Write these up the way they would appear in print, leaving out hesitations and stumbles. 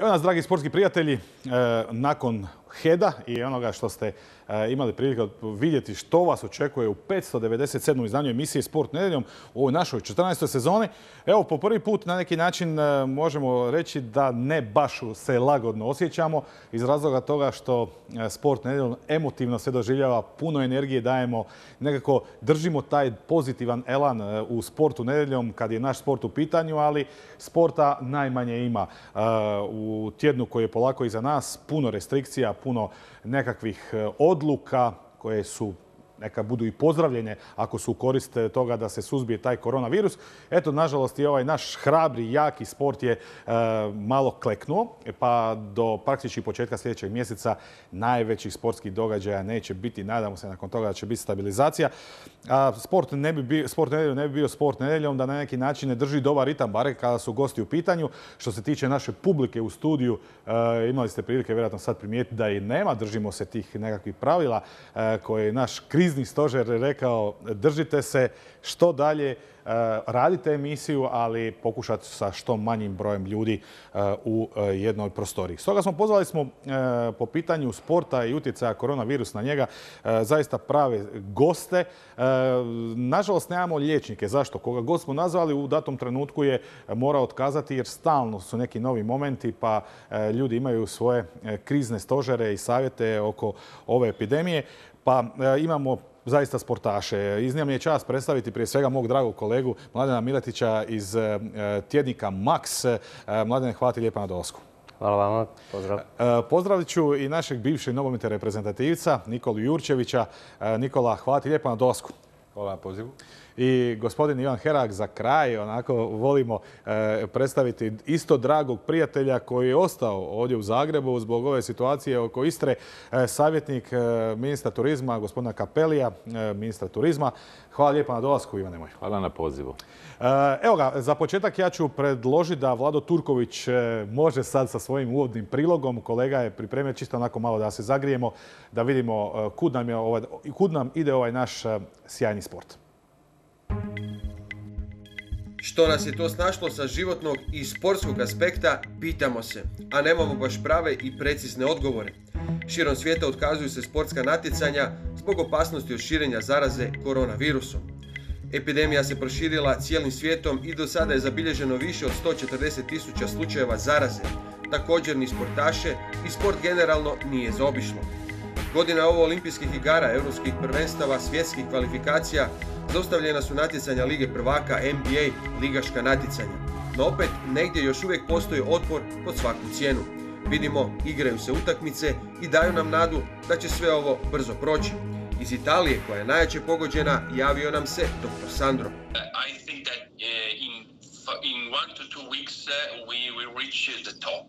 Evo nas, dragi sportski prijatelji, nakon Heda i onoga što ste imali prilike vidjeti što vas očekuje u 597. izdanju emisije Sport nedjeljom u ovoj našoj 14. sezoni. Evo, po prvi put na neki način možemo reći da ne baš se lagodno osjećamo iz razloga toga što Sport nedjeljom emotivno se doživljava, puno energije dajemo, nekako držimo taj pozitivan elan u Sportu nedjeljom kad je naš sport u pitanju, ali sporta najmanje ima. U tjednu koji je polako iza nas, puno restrikcija, puno nekakvih odluka koje su neka budu i pozdravljene ako su u korist toga da se suzbije taj koronavirus. Eto, nažalost, i ovaj naš hrabri, jaki sport je malo kleknuo, pa do praktički početka sljedećeg mjeseca najvećih sportskih događaja neće biti. Nadamo se nakon toga da će biti stabilizacija. Sport nedjeljom ne bi bio sport nedjeljom da na neki način ne drži dobar ritam, bare kada su gosti u pitanju. Što se tiče naše publike u studiju, imali ste prilike vjerojatno sad primijetiti da i nema. Držimo se tih nekakvih pravila koje je naš krizni stožer rekao, držite se što dalje, radite emisiju, ali pokušati sa što manjim brojem ljudi u jednoj prostoriji. Stoga pozvali smo po pitanju sporta i utjecaja koronavirus na njega zaista prave goste. Nažalost, nemamo liječnike. Zašto? Koga god smo nazvali u datom trenutku je morao otkazati jer stalno su neki novi momenti, pa ljudi imaju svoje krizne stožere i savjete oko ove epidemije. Pa imamo zaista sportaše. Iznimna mi je čast predstaviti prije svega mog dragog kolegu Mladena Miletića iz tjednika Max. Mladene, hvala ti lijepa na dolasku. Hvala vama, pozdrav. Pozdravit ću i našeg bivšeg nogometnog reprezentativca Nikolu Jurčevića. Nikola, hvala ti lijepa na dolasku. Hvala na pozivu. I gospodin Ivan Herak za kraj, onako volimo predstaviti isto dragog prijatelja koji je ostao ovdje u Zagrebu zbog ove situacije oko Istre, savjetnik ministra turizma, gospodina Kapelija, ministra turizma. Hvala lijepa na dolasku, Ivane moj. Hvala na pozivu. Evo ga, za početak ja ću predložiti da Vlado Turković može sad sa svojim uvodnim prilogom. Kolega je pripremio čisto onako malo da se zagrijemo, da vidimo kud nam ide ovaj naš sjajni sport. Što nas je to snašlo sa životnog i sportskog aspekta, pitamo se, a nemamo baš prave i precizne odgovore. Širom svijeta otkazuju se sportska natjecanja zbog opasnosti od širenja zaraze koronavirusom. Epidemija se proširila cijelim svijetom i do sada je zabilježeno više od 140.000 slučajeva zaraze. Također ni sportaše i sport generalno nije zaobišlo. Godina ovo olimpijskih igara, europskih prvenstava, svjetskih kvalifikacija, zaustavljena su natjecanja Lige prvaka, NBA, ligaška natjecanja. No opet, negdje još uvijek postoji otpor pod svaku cijenu. Vidimo, igraju se utakmice i daju nam nadu da će sve ovo brzo proći. Iz Italije, koja je najjače pogođena, javio nam se dr. Sandro. In 1 to 2 weeks we will reach the top.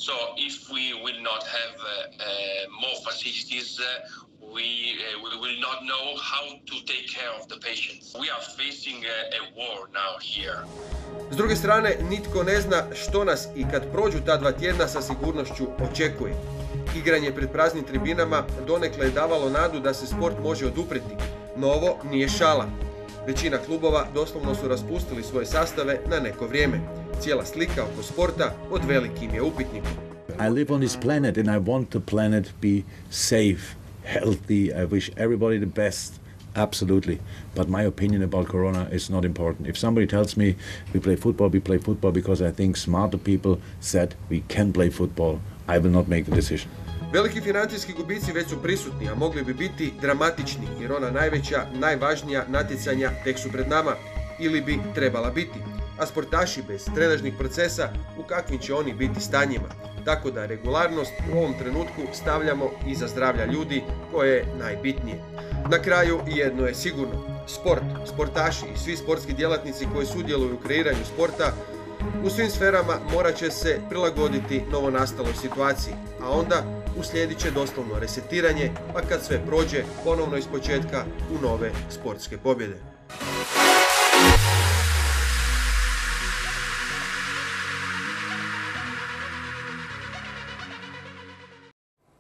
So if we will not have more facilities, we will not know how to take care of the patients. We are facing a war now here. S druge strane, nitko ne zna što nas i kad prođu ta 2 tjedna sa sigurnošću očekuje. Igranje pred praznim tribinama donekle je davalo nadu da se sport može oduprijeti, no ovo nije šala. Većina klubova doslovno su raspustili svoje sastave na neko vrijeme. Cijela slika oko sporta pod velikim je upitnikom. I live on this planet and I want the planet be safe, healthy. I wish everybody the best. Absolutely. But my opinion about corona is not important. If somebody tells me we play football because I think smarter people said we can play football, I will not make the decision. Veliki financijski gubici već su prisutni, a mogli bi biti dramatični, jer ona najveća, najvažnija natjecanja tek su pred nama, ili bi trebala biti. A sportaši bez trenažnih procesa, u kakvim će oni biti stanjima. Tako da regularnost u ovom trenutku stavljamo iza zdravlja ljudi, koje je najbitnije. Na kraju jedno je sigurno. Sport, sportaši i svi sportski djelatnici koji sudjeluju u kreiranju sporta u svim sferama morat će se prilagoditi novonastaloj situaciji, a onda uslijedit će doslovno resetiranje, pa kad sve prođe, ponovno ispočetka u nove sportske pobjede.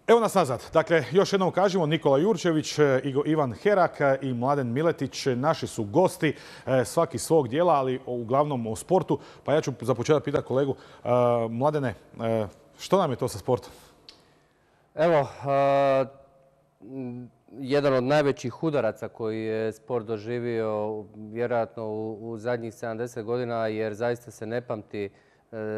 Evo nas nazad. Dakle, još jednom kažemo, Nikola Jurčević, Ivan Herak i Mladen Miletić naši su gosti, svaki svog dijela, ali uglavnom o sportu. Pa ja ću za početak pitati kolegu Mladene, Što nam je to sa sportom? Evo, jedan od najvećih udaraca koji je sport doživio vjerojatno u zadnjih 70 godina, jer zaista se ne pamti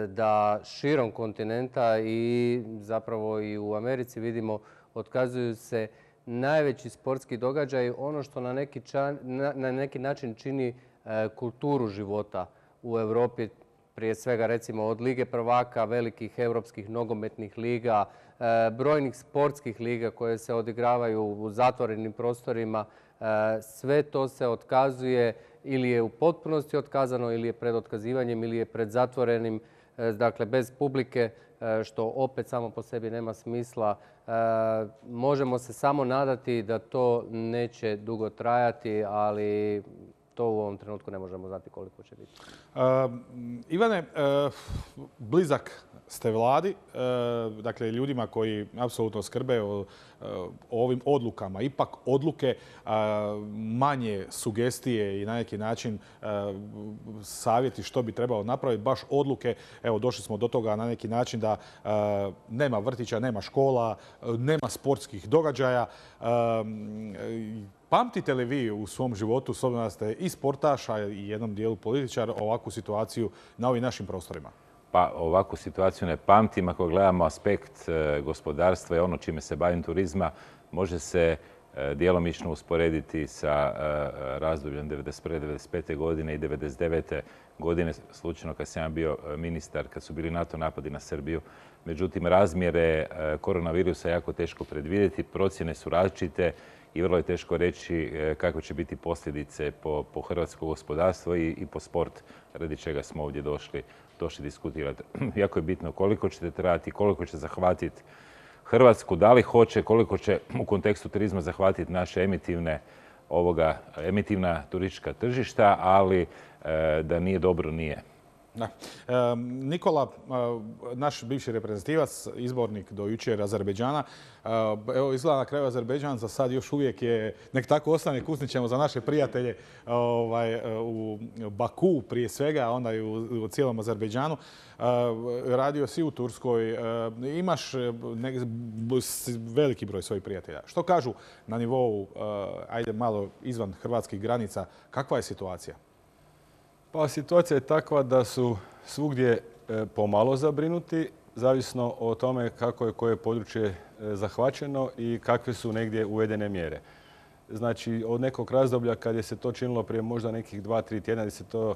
da širom kontinenta i zapravo i u Americi vidimo otkazuju se najveći sportski događaj, ono što na neki način čini kulturu života u Europi, prije svega recimo od Lige prvaka, velikih europskih nogometnih liga, brojnih sportskih liga koje se odigravaju u zatvorenim prostorima. Sve to se otkazuje ili je u potpunosti otkazano ili je pred otkazivanjem ili je pred zatvorenim, dakle bez publike, što opet samo po sebi nema smisla. Možemo se samo nadati da to neće dugo trajati, ali to u ovom trenutku ne možemo znati koliko će biti. Ivane, blizak ste vladi, dakle ljudima koji apsolutno skrbe o ovim odlukama. Ipak odluke, manje sugestije i na neki način savjeti što bi trebalo napraviti, baš odluke. Evo, došli smo do toga na neki način da nema vrtića, nema škola, nema sportskih događaja. Pamtite li vi u svom životu, s obzirom da ste i sportaš, a i jednom dijelu političar, ovakvu situaciju na ovim našim prostorima? Pa ovakvu situaciju ne pamtim. Ako gledamo aspekt gospodarstva i ono čime se bavim, turizma, može se djelomično usporediti sa razdobljem 1991. 1995. godine i 1999. godine, slučajno kad sam ja bio ministar, kad su bili NATO napadi na Srbiju. Međutim, razmjere koronavirusa je jako teško predvidjeti, procjene su različite i vrlo je teško reći kakve će biti posljedice po hrvatsko gospodarstvo i po sport, radi čega smo ovdje došli diskutirati. Jako je bitno koliko ćete trajati, koliko će zahvatiti Hrvatsku, da li hoće, koliko će u kontekstu turizma zahvatiti naše emitivna turistička tržišta, ali da nije dobro, nije. Da. Nikola, naš bivši reprezentativac, izbornik do jučer Azerbejdžana, evo izgleda na kraju Azerbejdžan za sad još uvijek je, nek tako ostane, kusnit ćemo za naše prijatelje u Baku prije svega, a onda i u cijelom Azerbejdžanu. Radio si u Turskoj, imaš veliki broj svojih prijatelja. Što kažu na nivou, ajde malo izvan hrvatskih granica, kakva je situacija? Pa situacija je takva da su svugdje pomalo zabrinuti, zavisno o tome kako je koje područje zahvaćeno i kakve su negdje uvedene mjere. Znači, od nekog razdoblja kad je se to činilo prije možda nekih 2-3 tjedna, gdje se to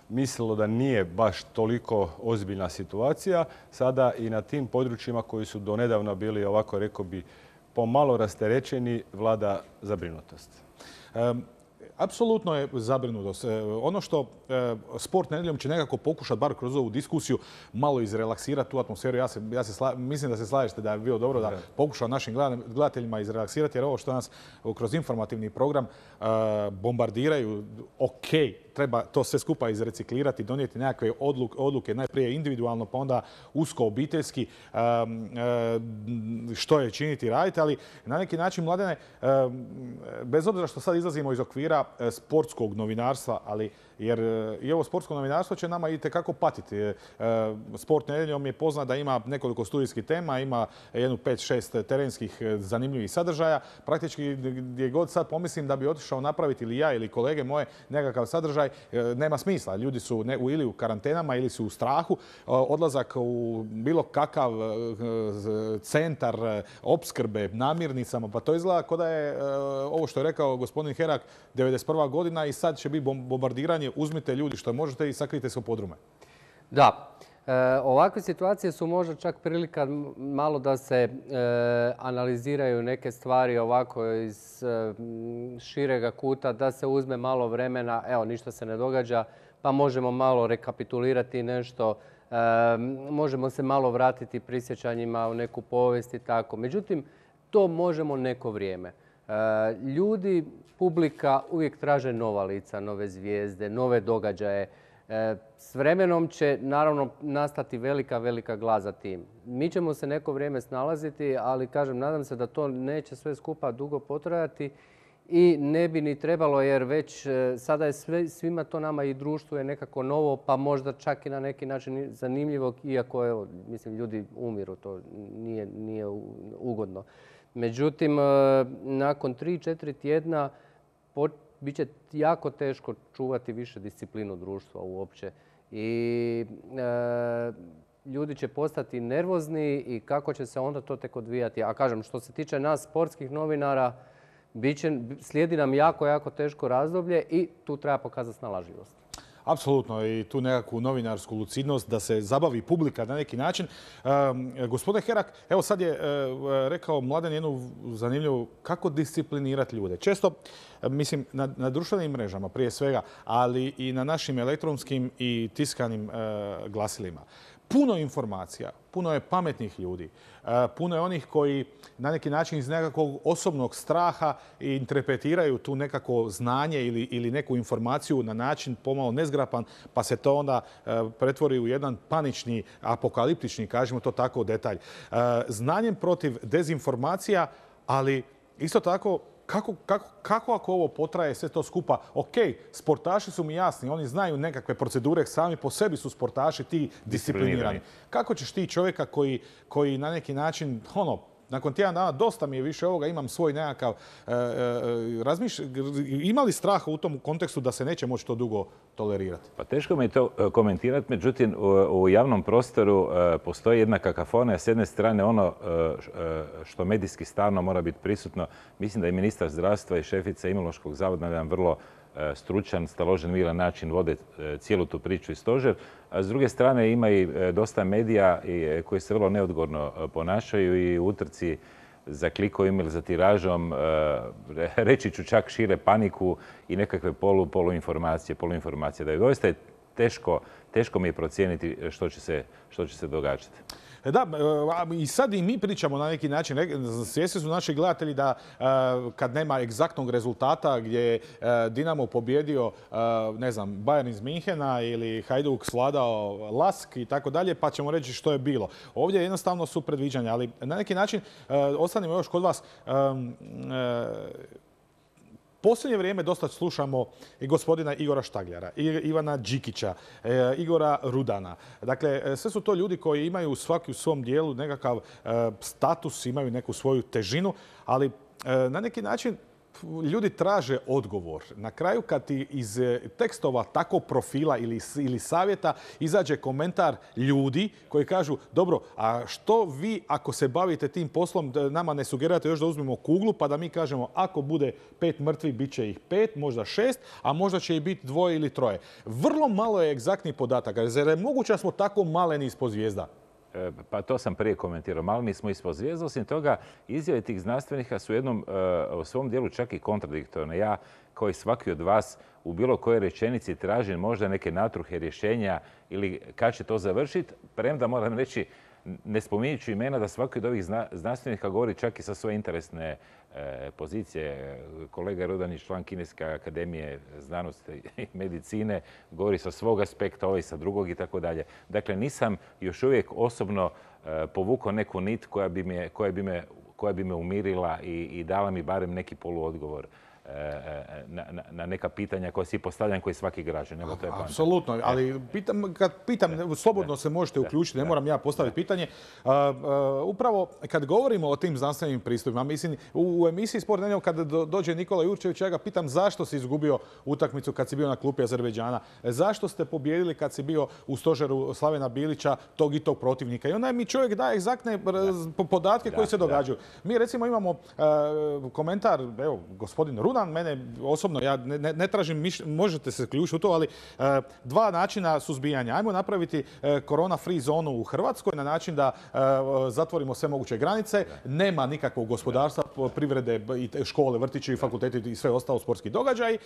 mislilo da nije baš toliko ozbiljna situacija, sada i na tim područjima koji su donedavno bili, ovako rekao bi, pomalo rasterećeni, vlada zabrinutost. Apsolutno je zabrinutost. Ono što Sport nedjeljom će nekako pokušati, bar kroz ovu diskusiju, malo izrelaksirati tu atmosferu. Mislim da se slažete da je bilo dobro da pokuša našim gledateljima izrelaksirati, jer ovo što nas kroz informativni program bombardiraju, ok, treba to sve skupa izreciklirati, donijeti nekakve odluke, najprije individualno, pa onda usko obiteljski, što je činiti i raditi, ali na neki način, Mladene, bez obzira što sad izlazimo iz okvira sportskog novinarstva, ali jer i ovo sportsko novinarstvo će nama itekako patiti. Sport nedjeljom je poznat da ima nekoliko studijskih tema, ima jednu 5-6 terenskih zanimljivih sadržaja. Praktički gdje god sad pomislim da bi otišao napraviti ili ja ili kolege moje nekakav sadržaj, nema smisla. Ljudi su ili u karantenama ili su u strahu. Odlazak u bilo kakav centar opskrbe namirnicama, pa to izgleda kao da je ovo što je rekao gospodin Herak, 91. godina i sad će biti bombardiranje, uzmite ljudi što možete i sakrijte se u podrume. Da. Ovakve situacije su možda čak prilika malo da se analiziraju neke stvari ovako iz širega kuta, da se uzme malo vremena, evo ništa se ne događa, pa možemo malo rekapitulirati nešto, možemo se malo vratiti prisjećanjima u neku povijest i tako. Međutim, to možemo neko vrijeme. Ljudi, publika uvijek traže nova lica, nove zvijezde, nove događaje. S vremenom će naravno nastati velika glad za tim. Mi ćemo se neko vrijeme snalaziti, ali kažem, nadam se da to neće sve skupa dugo potrajati, i ne bi ni trebalo jer već sada je svima to nama i društvo je nekako novo pa možda čak i na neki način zanimljivo iako evo, mislim ljudi umiru, to nije ugodno. Međutim, nakon 3-4 tjedna bit će jako teško čuvati više disciplinu društva uopće i ljudi će postati nervozni i kako će se onda to tek odvijati. A kažem, što se tiče nas sportskih novinara, slijedi nam jako teško razdoblje i tu treba pokazati snalažljivost. Apsolutno i tu nekakvu novinarsku lucidnost da se zabavi publika na neki način. Gospodin Herak, evo sad je rekao Mladen jednu zanimljivu kako disciplinirati ljude. Često, mislim, na društvenim mrežama prije svega, ali i na našim elektronskim i tiskanim glasilima. Puno informacija, puno je pametnih ljudi, puno je onih koji na neki način iz nekakvog osobnog straha interpretiraju tu nekako znanje ili neku informaciju na način pomalo nezgrapan, pa se to onda pretvori u jedan panični, apokaliptični, kažemo to tako, detalj. Znanjem protiv dezinformacija, ali isto tako kako ako ovo potraje sve to skupa? Ok, sportaši su mi jasni, oni znaju nekakve procedure, sami po sebi su sportaši ti disciplinirani. Kako ćeš ti čovjeka koji na neki način, nakon tjedan dana dosta mi je više ovoga, imam svoj nekakav ima li straha u tom kontekstu da se neće moći to dugo tolerirati? Pa teško mi je to komentirati, međutim u javnom prostoru postoji jedna kakafonija. S jedne strane ono što medijski stalno mora biti prisutno, mislim da i ministar zdravstva i šefica Imunološkog zavoda na jedan vrlo stručan, staložen, miran način vode cijelu tu priču i stožer. A s druge strane ima i dosta medija koji se vrlo neodgovorno ponašaju i u utrci za klikovima ili za tiražom, reći ću čak šire paniku i nekakve poluinformacije. Da je doista teško mi je procijeniti što će se događati. Da, i sad i mi pričamo na neki način, svjesni su naši gledatelji da kad nema egzaktnog rezultata gdje je Dinamo pobjedio, ne znam, Bayern iz Minhena ili Hajduk svladao Lask i tako dalje, pa ćemo reći što je bilo. Ovdje jednostavno su predviđanja, ali na neki način ostanimo još kod vas. Posljednje vrijeme dosta slušamo i gospodina Igora Štagljara, Ivana Đikića, Igora Rudana. Dakle, sve su to ljudi koji imaju svaki u svom dijelu nekakav status, imaju neku svoju težinu, ali na neki način ljudi traže odgovor. Na kraju kad ti iz tekstova takvog profila ili savjeta izađe komentar ljudi koji kažu dobro, a što vi ako se bavite tim poslom nama ne sugerirate još da uzmemo kuglu pa da mi kažemo ako bude 5 mrtvih bit će ih 5, možda 6, a možda će ih biti 2 ili 3. Vrlo malo je egzaktnih podataka. Zar je moguće da smo tako maleni ispod zvijezda? Pa to sam prije komentirao. Maleni smo ispod zvijezda. Osim toga, izjave tih znanstvenika su u svom dijelu čak i kontradiktorne. Ja, kao i svaki od vas, u bilo kojoj rečenici tražim možda neke natruhe rješenja ili kad će to završiti, premda moram reći, ne spominjući imena, da svaki od ovih znanstvenika govori čak i sa svoje interesne pozicije. Kolega Rudanić, član Kineske akademije znanosti i medicine, govori sa svog aspekta, ovaj sa drugog i tako dalje. Dakle, nisam još uvijek osobno povukao neku nit koja bi me umirila i dala mi barem neki poluodgovor na neka pitanja koja si postavljam koji svaki građan. Apsolutno, ali kad pitam, slobodno se možete uključiti, ne moram ja postaviti pitanje. Upravo kad govorimo o tim znanstvenim pristupima, mislim, u emisiji Sport nedjeljom kad dođe Nikola Jurčević, ja ga pitam zašto si izgubio utakmicu kad si bio na klupi Azerbejdžana, zašto ste pobijedili kad si bio u stožeru Slavena Bilića tog i tog protivnika. I onda mi čovjek daje egzaktne podatke koji se događaju. Mi recimo imamo komentar, evo, gospodin Rudan, mene osobno, ja ne tražim, možete se ključiti u to, ali 2 načina suzbijanja. Ajmo napraviti korona free zonu u Hrvatskoj na način da zatvorimo sve moguće granice, nema nikakvog gospodarstva, privrede, škole, vrtići, fakulteti i sve ostalo sportski događaji.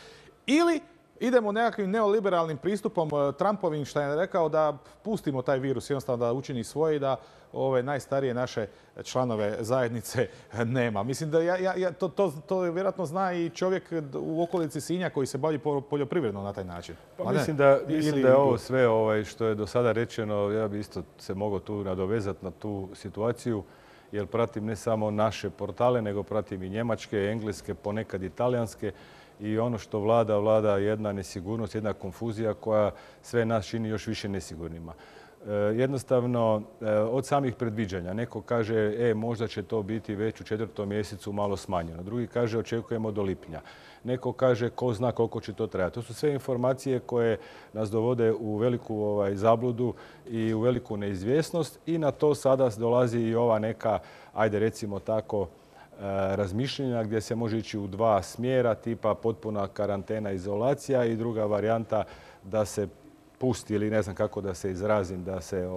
Ili idemo nekakvim neoliberalnim pristupom Trumpovim što je rekao da pustimo taj virus jednostavno da učini svoje i da ove najstarije naše članove zajednice nema. Mislim da to vjerojatno zna i čovjek u okolici Sinja koji se bavi poljoprivredno na taj način. Pa mislim da je ovo sve što je do sada rečeno, ja bi isto se mogao tu nadovezati na tu situaciju. jer pratim ne samo naše portale, nego pratim i njemačke, engleske, ponekad i talijanske. I ono što vlada jedna nesigurnost, jedna konfuzija koja sve nas čini još više nesigurnima. Jednostavno, od samih predviđanja. Neko kaže, možda će to biti već u 4. mjesecu malo smanjeno. Drugi kaže, očekujemo do lipnja. Neko kaže, ko zna koliko će to trajati. To su sve informacije koje nas dovode u veliku zabludu i u veliku neizvjesnost i na to sada dolazi i ova neka, ajde recimo tako, razmišljenja gdje se može ići u 2 smjera, tipa potpuna karantena, izolacija i druga varijanta da se pusti ili ne znam kako da se izrazim, da se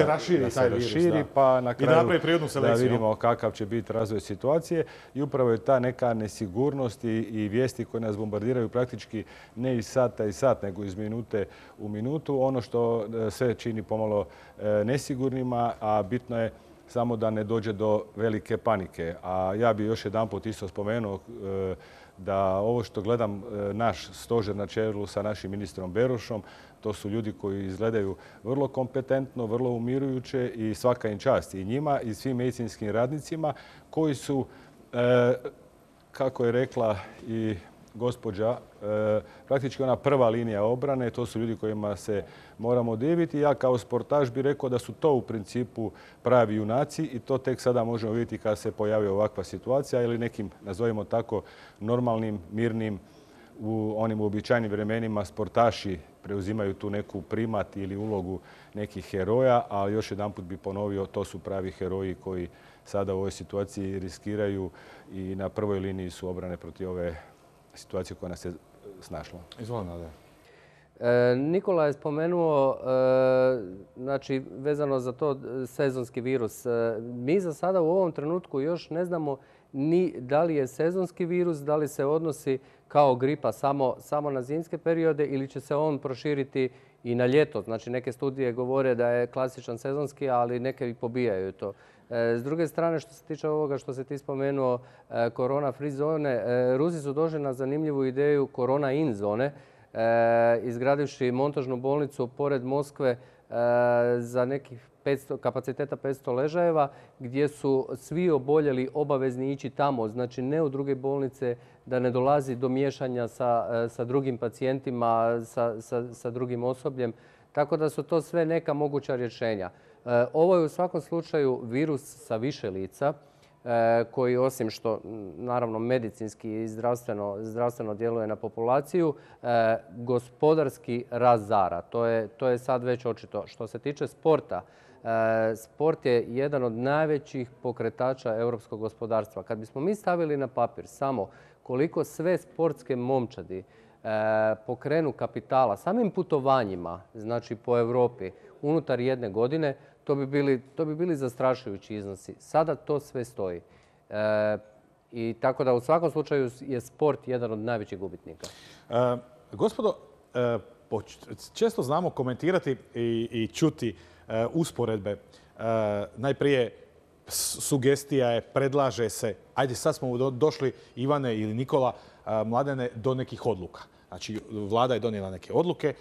raširi taj virus, pa na kraju da vidimo kakav će biti razvoj situacije. I upravo je ta neka nesigurnost i vijesti koje nas bombardiraju praktički ne iz sata i sat, nego iz minute u minutu. Ono što sve čini pomalo nesigurnima, a bitno je samo da ne dođe do velike panike. A ja bih još jedanput isto spomenuo da ovo što gledam naš stožer na čelu sa našim ministrom Berošom, to su ljudi koji izgledaju vrlo kompetentno, vrlo umirujuće i svaka im čast i njima i svim medicinskim radnicima koji su, kako je rekla i gospođa, praktički ona prva linija obrane. To su ljudi kojima se moramo diviti. Ja kao sportaš bih rekao da su to u principu pravi junaci i to tek sada možemo vidjeti kada se pojavi ovakva situacija ili nekim, nazovimo tako, normalnim, mirnim, u onim uobičajenim vremenima sportaši preuzimaju tu neku primat ili ulogu nekih heroja, ali još jedanput bih ponovio, to su pravi heroji koji sada u ovoj situaciji riskiraju i na prvoj liniji su obrane protiv ove situacije koja nas je snašla. Izvolite, Nade. Nikola je spomenuo, znači vezano za to sezonski virus. Mi za sada u ovom trenutku još ne znamo ni da li je sezonski virus, da li se odnosi kao gripa samo na zimske periode ili će se on proširiti i na ljeto. Znači neke studije govore da je klasičan sezonski, ali neke i pobijaju to. S druge strane, što se tiče ovoga što se ti spomenuo, korona free zone, Rusi su došli na zanimljivu ideju korona in zone, izgradivši montažnu bolnicu pored Moskve za nekih kapaciteta 500 ležajeva, gdje su svi oboljeli obavezni ići tamo, znači ne u druge bolnice, da ne dolazi do miješanja sa drugim pacijentima, sa drugim osobljem. Tako da su to sve neka moguća rješenja. Ovo je u svakom slučaju virus sa više lica, koji osim što naravno medicinski i zdravstveno djeluje na populaciju, gospodarski razara. To je sad već očito. Što se tiče sporta, sport je jedan od najvećih pokretača europskog gospodarstva. Kad bismo mi stavili na papir samo koliko sve sportske momčadi pokrenu kapitala samim putovanjima, znači po Europi, unutar jedne godine, to bi bili zastrašujući iznosi. Sada to sve stoji. I tako da u svakom slučaju je sport jedan od najvećih gubitnika. Gospodo, često znamo komentirati i čuti usporedbe. Najprije sugestija je, predlaže se, ajde sad smo došli, Ivane ili Nikola, Mladene, do nekih odluka. Znači, vlada je donijela neke odluke,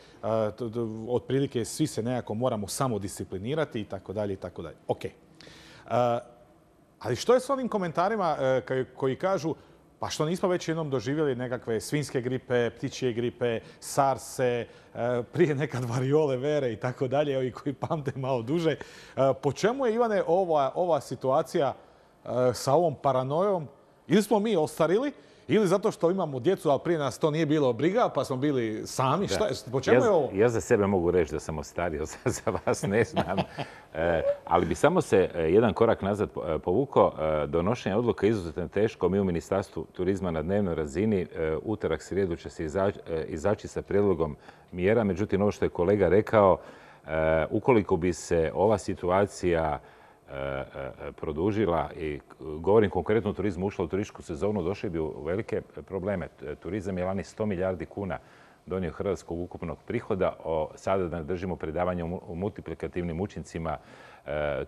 otprilike svi se nekako moramo samodisciplinirati i tako dalje i tako dalje. Ok. Ali što je s onim komentarima koji kažu pa što nismo već jednom doživjeli nekakve svinjske gripe, ptičje gripe, sarse, prije nekad variole vere i tako dalje, ovi koji pamte malo duže. Po čemu je, Ivane, ova situacija sa ovom paranojom? Ili smo mi ostarili, ili zato što imamo djecu, ali prije nas to nije bilo briga, pa smo bili sami. Po čemu je ovo? Ja za sebe mogu reći da sam ostario, za vas ne znam. Ali bi samo se jedan korak nazad povukao. Donošenje odluka je izuzetno teško. Mi u Ministarstvu turizma na dnevnoj razini utorak, srijedu će se izaći sa prijedlogom mjera. Međutim, ovo što je kolega rekao, ukoliko bi se ova situacija produžila i govorim konkretno o turizmu, ušla u turističku sezonu, došli bi u velike probleme. Turizam je lani 100 milijardi kuna donio hrvatskog ukupnog prihoda. Sada da držimo predavanje o multiplikativnim učincima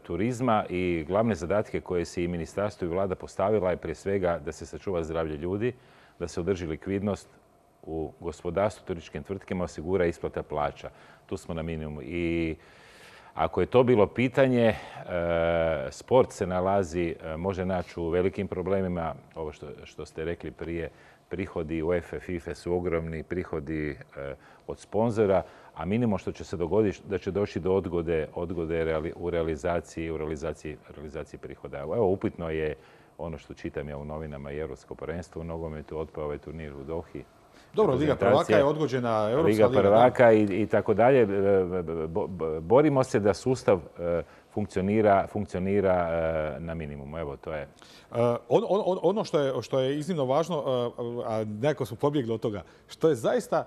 turizma i glavne zadatke koje se i ministarstvo i vlada postavila je prije svega da se sačuva zdravlje ljudi, da se održi likvidnost u gospodarstvu, turističkim tvrtkama, osigura isplata plaća. Tu smo na minimumu. Ako je to bilo pitanje, sport se može naći u velikim problemima. Ovo što ste rekli prije, prihodi UEFA, FIFA su ogromni, prihodi od sponzora, a minimum što će se dogoditi da će doći do odgode u realizaciji prihoda. Evo, upitno je ono što čitam ja u novinama i Europsko prvenstvo u nogometu, otpao ovaj turnir u Dohi. Dobro, Liga prvaka je odgođena, Europska Liga prvaka i tako dalje. Borimo se da sustav funkcionira na minimumu. Evo, to je. Ono što je iznimno važno, a nekako smo pobjegli od toga, što je zaista,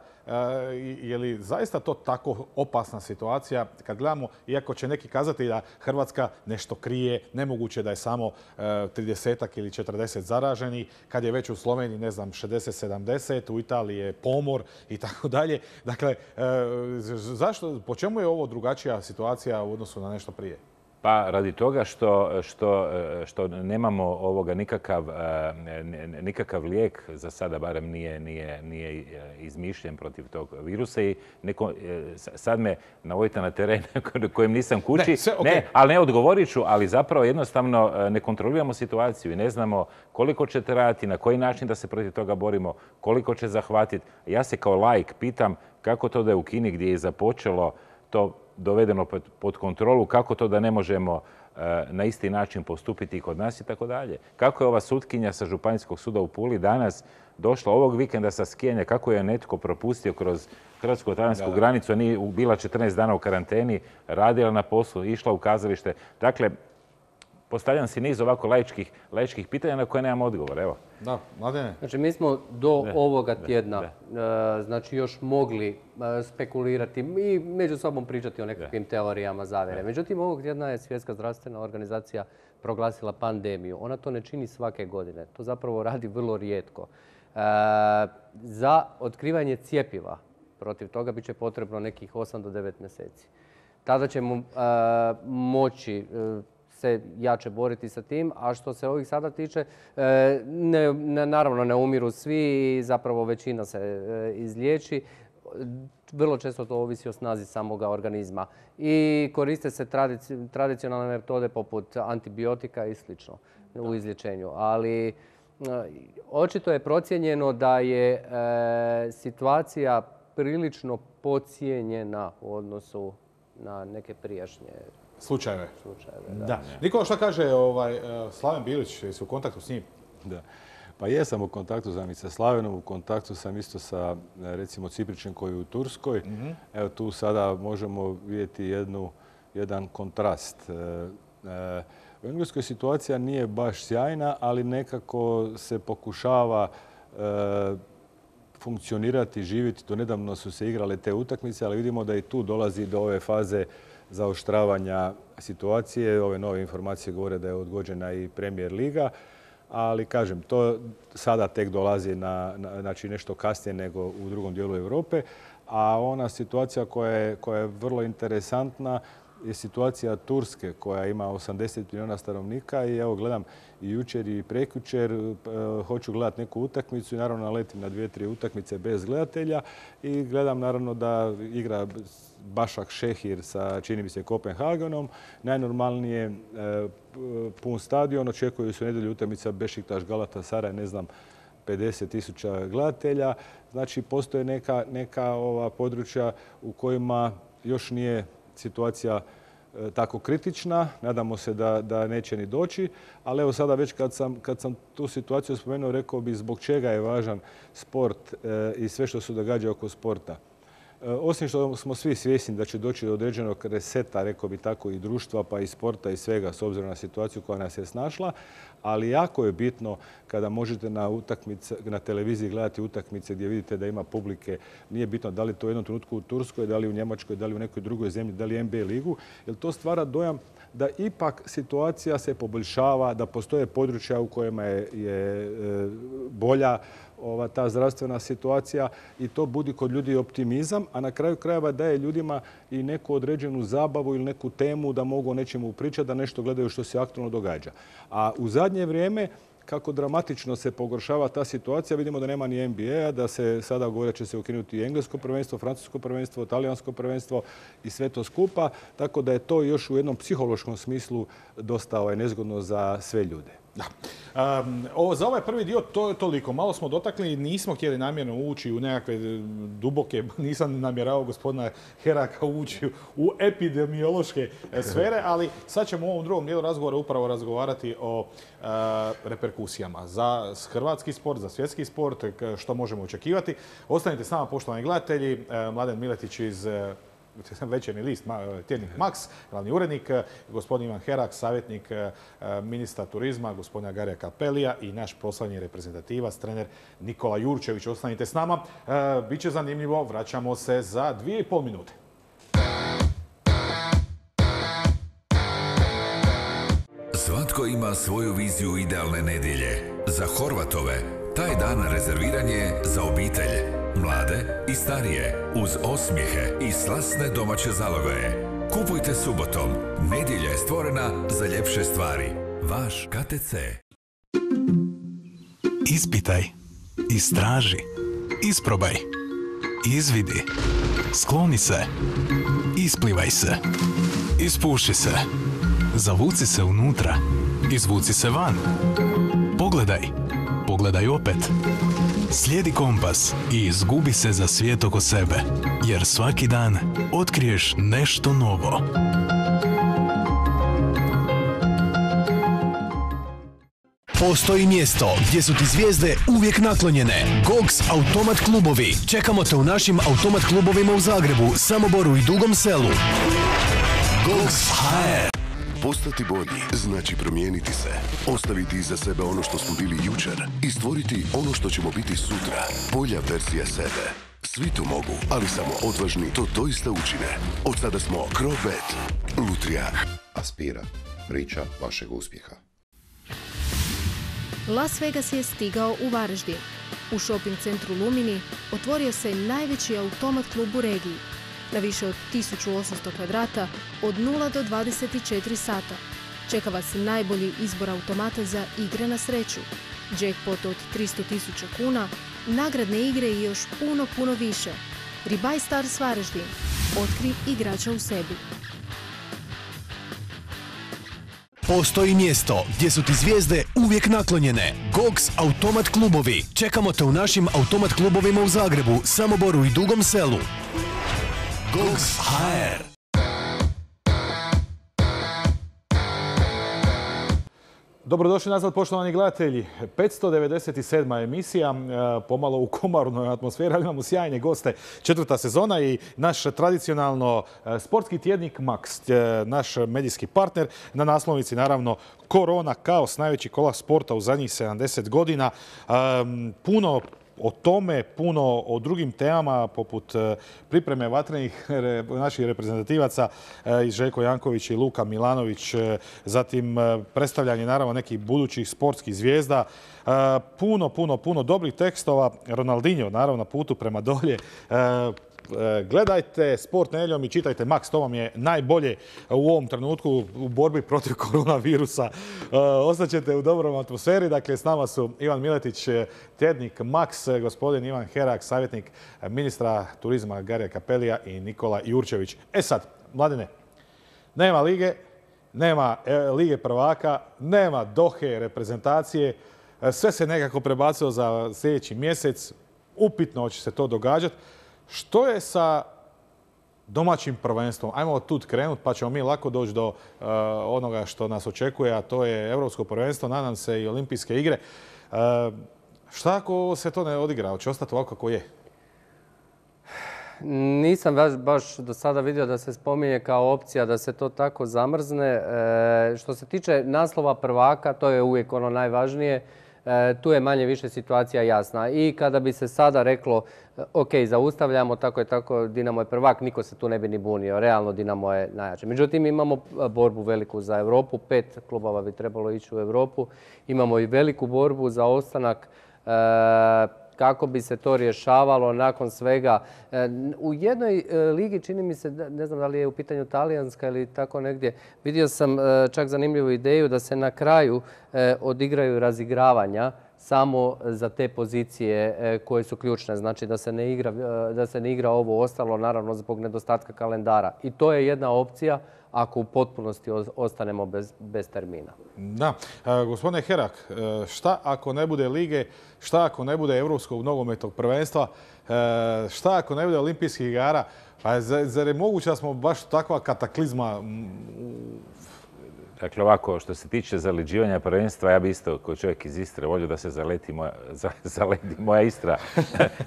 je li zaista to tako opasna situacija kad gledamo, iako će neki kazati da Hrvatska nešto krije, nemoguće da je samo 30 ili 40 zaraženi, kad je već u Sloveniji, ne znam, 60-70, u Italiji je pomor i tako dalje. Dakle, po čemu je ovo drugačija situacija u odnosu na nešto prije? Pa radi toga što nemamo ovoga nikakav lijek, za sada barem nije izmišljen protiv tog virusa i sad me navodite na teren kojem nisam kući. Ali ne odgovorit ću, ali zapravo jednostavno ne kontroliramo situaciju i ne znamo koliko će trajati, na koji način da se protiv toga borimo, koliko će zahvatiti. Ja se kao laik pitam kako to da je u Kini gdje je započelo to dovedeno pod kontrolu, kako to da ne možemo na isti način postupiti i kod nas i tako dalje. Kako je ova sutkinja sa Županijskog suda u Puli danas došla ovog vikenda sa skijanja, kako je netko propustio kroz hrvatsko-talijansku granicu, a nije bila 14 dana u karanteni, radila na poslu, išla u kazalište. Dakle, postavljam si niz ovako laičkih pitanja na koje nemam odgovor. Evo. Da, Mladene. Znači, mi smo do ovoga tjedna znači još mogli spekulirati i među sobom pričati o nekakvim teorijama zavjere. Međutim, ovog tjedna je Svjetska zdravstvena organizacija proglasila pandemiju. Ona to ne čini svake godine. To zapravo radi vrlo rijetko. Za otkrivanje cjepiva protiv toga bit će potrebno nekih 8 do 9 mjeseci. Tada ćemo moći se jače boriti sa tim, a što se ovih sada tiče, naravno ne umiru svi i zapravo većina se izliječi. Vrlo često to ovisi o snazi samoga organizma. I koriste se tradicionalne metode poput antibiotika i slično u izlječenju. Ali očito je procijenjeno da je situacija prilično podcijenjena u odnosu na neke prijašnje slučajeve. Da. Nikola, šta kaže Slaven Bilić? Jesi u kontaktu s njim? Da. Pa jesam u kontaktu sam i sa Slavenom, u kontaktu sam isto sa recimo Cipričem koji je u Turskoj. Evo tu sada možemo vidjeti jedan kontrast. U Engleskoj situacija nije baš sjajna, ali nekako se pokušava funkcionirati, živjeti. Do nedavno su se igrale te utakmice, ali vidimo da i tu dolazi do ove faze zaoštravanja situacije. Ove nove informacije govore da je odgođena i Premier Liga, ali kažem, to sada tek dolazi znači nešto kasnije nego u drugom dijelu Europe. A ona situacija koja je vrlo interesantna je situacija Turske koja ima 80 milijuna stanovnika i evo gledam i jučer i prekjučer hoću gledati neku utakmicu i naravno naletim na 2-3 utakmice bez gledatelja i gledam naravno da igra Bašak Šehir sa, čini mi se, Kopenhagenom. Najnormalnije pun stadion, očekuju se u nedjelju utakmica Bešiktaš Galatasaray, ne znam, 50.000 gledatelja. Znači, postoje neka područja u kojima još nije situacija tako kritična. Nadamo se da neće ni doći. Ali evo sada već kad sam tu situaciju spomenuo, rekao bih zbog čega je važan sport i sve što se događa oko sporta. Osim što smo svi svjesni da će doći do određenog reseta, rekao bi tako, i društva, pa i sporta i svega, s obzirom na situaciju koja nas je snašla, ali jako je bitno kada možete na televiziji gledati utakmice gdje vidite da ima publike. Nije bitno da li to u jednom trenutku u Turskoj, da li u Njemačkoj, da li u nekoj drugoj zemlji, da li NBA ligu, jer to stvara dojam da ipak situacija se poboljšava, da postoje područja u kojima je bolja ta zdravstvena situacija i to budi kod ljudi optimizam, a na kraju krajeva daje ljudima i neku određenu zabavu ili neku temu da mogu o nečemu pričati, da nešto gledaju što se aktualno događa. A u zadnje vrijeme, kako dramatično se pogoršava ta situacija. Vidimo da nema ni NBA-a, da se sada govori da će se ukinuti i englesko prvenstvo, francusko prvenstvo, talijansko prvenstvo i sve to skupa. Tako da je to još u jednom psihološkom smislu dosta nezgodno za sve ljude. Da. Za ovaj prvi dio to je toliko. Malo smo dotakli, nismo htjeli namjerno ući u nekakve duboke, nisam namjeravao gospodina Heraka ući u epidemiološke sfere, ali sad ćemo u ovom drugom dijelu razgovora upravo razgovarati o reperkusijama za hrvatski sport, za svjetski sport, što možemo očekivati. Ostanite s nama, poštovani gledatelji. Mladen Miletić iz Večernji list, tjednik Max, glavni urednik, gospodin Ivan Herak, savjetnik ministra turizma, gospodina Garija Cappellija i naš proslavni reprezentativac, trener Nikola Jurčević. Ostanite s nama, biće zanimljivo, vraćamo se za 2,5 minute. Svatko ima svoju viziju idealne nedjelje. Za Horvatove taj dan rezerviran je za obitelj, mlade i starije, uz osmijehe i slasne domaće zalogaje. Kupujte subotom. Nedjelja je stvorena za ljepše stvari. Vaš KTC. Ispitaj, istraži, isprobaj, izvidi, skloni se, isplivaj se, ispuši se, zavuci se unutra, izvuci se van. Pogledaj, pogledaj opet. Slijedi kompas i izgubi se za svijet oko sebe, jer svaki dan otkriješ nešto novo. Postoji mjesto gdje su ti zvijezde uvijek naklonjene. Gogs Automat klubovi. Čekamo te u našim automat klubovima u Zagrebu, Samoboru i Dugom Selu. Gogs HR. Postati bolji znači promijeniti se, ostaviti iza sebe ono što smo bili jučer i stvoriti ono što ćemo biti sutra. Bolja verzija sebe. Svi to mogu, ali samo odvažni to doista učine. Od sada smo Crobet, Lutrija. Aspira, priča vašeg uspjeha. Las Vegas je stigao u Varaždin. U shopping centru Lumini otvorio se najveći automat klub u regiji. Na više od 1800 kvadrata od 0 do 24 sata. Čeka vas najbolji izbor automata za igre na sreću. Jackpot od 300.000 kuna, nagradne igre i još puno više. Ribaj Stars Varaždin. Otkri igrača u sebi. Postoji mjesto gdje su ti zvijezde uvijek naklonjene. Gogs Automat klubovi. Čekamo te u našim automat klubovima u Zagrebu, Samoboru i Dugom Selu. Gogs HR. Dobrodošli nazad, poštovani gledatelji. 597. emisija, pomalo u komarnoj atmosferi, ali imamo sjajne goste. 4. sezona i naš tradicionalno sportski tjednik Max, naš medijski partner. Na naslovnici, naravno, Korona, kaos, najveći kolaps sporta u zadnjih 70 godina. Puno o tome, puno o drugim temama poput pripreme vatrenih naših reprezentativaca iz Željko Janković i Luka Milanović, zatim predstavljanje naravno nekih budućih sportskih zvijezda, puno dobrih tekstova. Ronaldinho naravno na putu prema dolje. Gledajte Sport nedjeljom i čitajte Max, to vam je najbolje u ovom trenutku u borbi protiv koronavirusa. Ostaćete u dobrom atmosferi. Dakle, s nama su Ivan Miletić, tjednik Max, gospodin Ivan Herak, savjetnik ministra turizma Garija Cappellija i Nikola Jurčević. Sad, Mladine, nema lige, nema Lige prvaka, nema Dohe reprezentacije. Sve se nekako prebacilo za sljedeći mjesec. Upitno će se to događati. Što je sa domaćim prvenstvom? Ajmo tu krenuti pa ćemo mi lako doći do onoga što nas očekuje, a to je Europsko prvenstvo, nadam se i Olimpijske igre. Šta ako se to ne odigra? Hoće ostati ovako kako je? Nisam baš do sada vidio da se spominje kao opcija da se to tako zamrzne. Što se tiče naslova prvaka, to je uvijek ono najvažnije. Tu je manje više situacija jasna. I kada bi se sada reklo, ok, zaustavljamo, tako je tako, Dinamo je prvak, niko se tu ne bi ni bunio. Realno Dinamo je najjače. Međutim, imamo borbu veliku za Europu. 5 klubova bi trebalo ići u Europu. Imamo i veliku borbu za ostanak kako bi se to rješavalo nakon svega. U jednoj ligi, čini mi se, ne znam da li je u pitanju talijanska ili tako negdje, vidio sam čak zanimljivu ideju da se na kraju odigraju razigravanja samo za te pozicije koje su ključne. Znači da se ne igra ovo ostalo, naravno zbog nedostatka kalendara. I to je jedna opcija ako u potpunosti ostanemo bez termina. Da. Gospodine Herak, šta ako ne bude lige, šta ako ne bude Europskog nogometnog prvenstva, šta ako ne bude olimpijskih igara? Pa zar je moguće da smo baš takva kataklizma? Dakle, ovako, što se tiče zaleđivanja prvenstva, ja bi isto, kao čovjek iz Istre, volio da se zaledi moja Istra.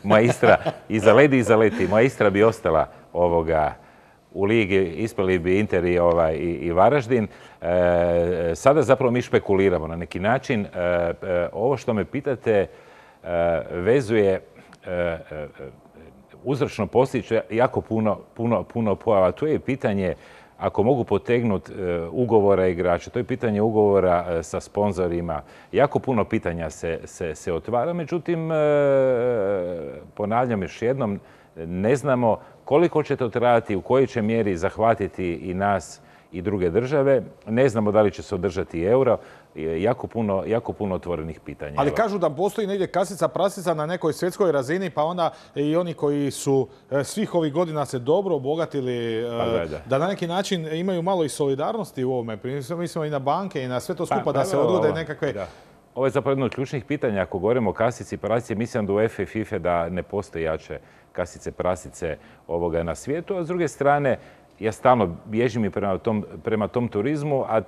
Moja Istra i zaleti. Moja Istra bi ostala u ligi, ispali bi Inter i Varaždin. Sada zapravo mi špekuliramo na neki način. Ovo što me pitate vezuje uzročno posljedično jako puno pojava. Tu je pitanje ako mogu potegnuti ugovora igrača, to je pitanje ugovora sa sponzorima. Jako puno pitanja se otvara, međutim, ponavljam još jednom, ne znamo koliko će to trajati, u kojoj će mjeri zahvatiti i nas i druge države. Ne znamo da li će se održati euro. Jako puno otvorenih pitanja. Ali kažu da postoji negdje kasica prasica na nekoj svjetskoj razini, pa onda i oni koji su svih ovih godina se dobro obogatili, da na neki način imaju malo i solidarnosti u ovome. Mislimo i na banke i na sve to skupa da se odgode nekakve... Ovo je zapravo jedno od ključnih pitanja. Ako govorimo o kasici prasice, mislim da u UEFA i FIFA da ne postoji jače kasice prasice na svijetu, a s druge strane ja stalno bježim i prema tom turizmu, a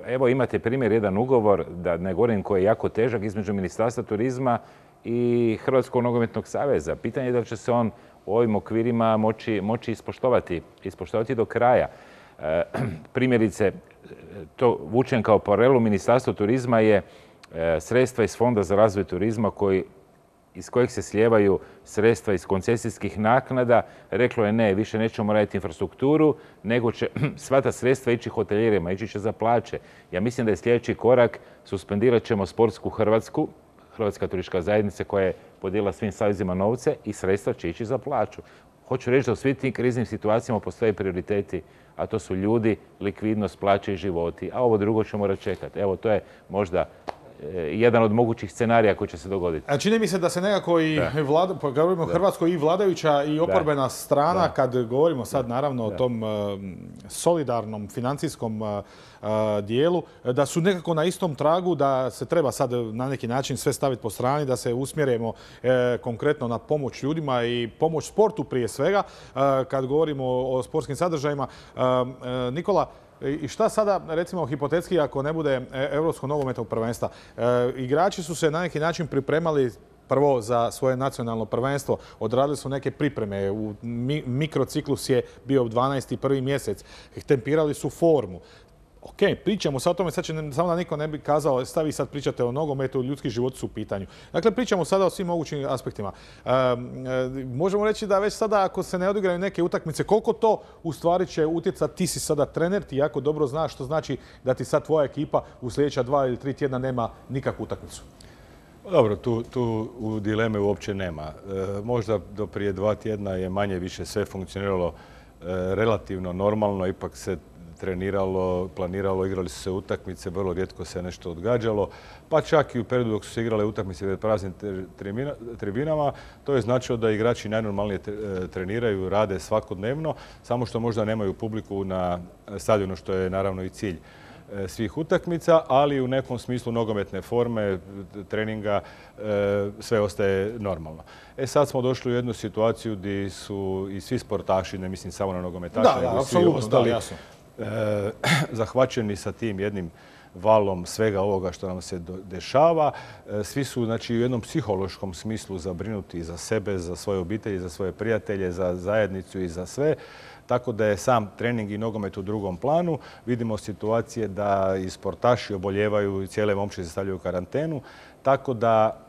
evo imate primjer, jedan ugovor, da ne govorim koji je jako težak, između Ministarstva turizma i Hrvatskog nogometnog saveza. Pitanje je da li će se on u ovim okvirima moći ispoštovati do kraja. Primjerice, to vučem kao paralelu, Ministarstvo turizma je sredstva iz Fonda za razvoj turizma iz kojeg se slijevaju sredstva iz koncesijskih naknada, reklo je ne, više nećemo raditi infrastrukturu, nego će sva ta sredstva ići hoteljerima, ići će za plaće. Ja mislim da je sljedeći korak, suspendirat ćemo sportsku Hrvatsku, Hrvatska turistička zajednica koja je podijelila svim savezima novce i sredstva će ići za plaću. Hoću reći da u svim tim kriznim situacijama postoje prioriteti, a to su ljudi, likvidnost, plaće i životi, a ovo drugo ćemo morati čekati. Evo, to je možda jedan od mogućih scenarija koji će se dogoditi. A čini mi se da se nekako i govorimo o Hrvatskoj i vladajuća i oporbena strana, kad govorimo sad naravno o tom solidarnom financijskom dijelu, da su nekako na istom tragu, da se treba sad na neki način sve staviti po strani, da se usmjerimo konkretno na pomoć ljudima i pomoć sportu prije svega, kad govorimo o sportskim sadržajima. Nikola, i šta sada, recimo, hipotetski ako ne bude Europskog nogometnog prvenstva? Igrači su se na neki način pripremali prvo za svoje nacionalno prvenstvo, odradili su neke pripreme, mikrociklus je bio 12. prvi mjesec, tempirali su formu. Ok, pričamo sad o tome, sad će samo da niko ne bi kazao, stavi sad pričate o nogometu, ljudski životi su u pitanju. Dakle, pričamo sada o svim mogućim aspektima. Možemo reći da već sada ako se ne odigraju neke utakmice, koliko to u stvari će utjecati, ti si sada trener, ti jako dobro znaš što znači da ti sad tvoja ekipa u sljedeća 2 ili 3 tjedna nema nikakvu utakmicu. Dobro, tu u dileme uopće nema. Možda do prije 2 tjedna je manje više sve funkcioniralo relativno normalno, ipak se treniralo, planiralo, igrali su se utakmice, vrlo rijetko se nešto odgađalo, pa čak i u periodu dok su se igrale utakmice pred praznim tribinama, to je značilo da igrači najnormalnije treniraju, rade svakodnevno, samo što možda nemaju publiku na stadionu, što je naravno i cilj svih utakmica, ali u nekom smislu nogometne forme, treninga, sve ostaje normalno. Sad smo došli u jednu situaciju gdje su i svi sportaši, ne mislim samo na nogometaše, nego svi ostali, zahvaćeni sa tim jednim valom svega ovoga što nam se dešava. Svi su, znači, u jednom psihološkom smislu zabrinuti za sebe, za svoje obitelji, za svoje prijatelje, za zajednicu i za sve. Tako da je sam trening i nogomet u drugom planu. Vidimo situacije da i sportaši oboljevaju i cijele momčine se stavljaju u karantenu. Tako da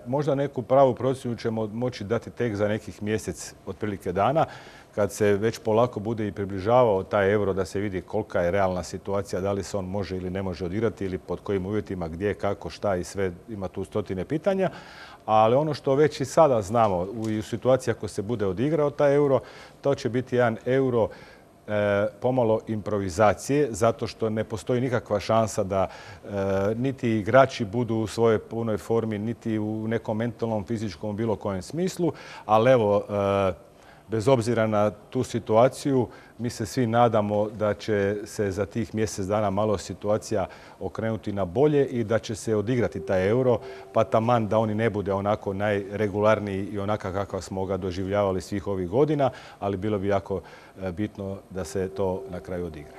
možda neku pravu procjenu ćemo moći dati tek za nekih mjesec otprilike dana. kad se već polako bude i približavao taj euro, da se vidi kolika je realna situacija, da li se on može ili ne može odigrati ili pod kojim uvjetima, gdje, kako, šta i sve, ima tu stotine pitanja. Ali ono što već i sada znamo, u situaciji ako se bude odigrao taj euro, to će biti jedan euro pomalo improvizacije, zato što ne postoji nikakva šansa da niti igrači budu u svojoj punoj formi, niti u nekom mentalnom, fizičkom, bilo kojem smislu. Ali evo, bez obzira na tu situaciju, mi se svi nadamo da će se za tih mjesec dana malo situacija okrenuti na bolje i da će se odigrati taj euro, pa taman da oni ne bude onako najregularniji i onaka kakav smo ga doživljavali svih ovih godina, ali bilo bi jako bitno da se to na kraju odigra.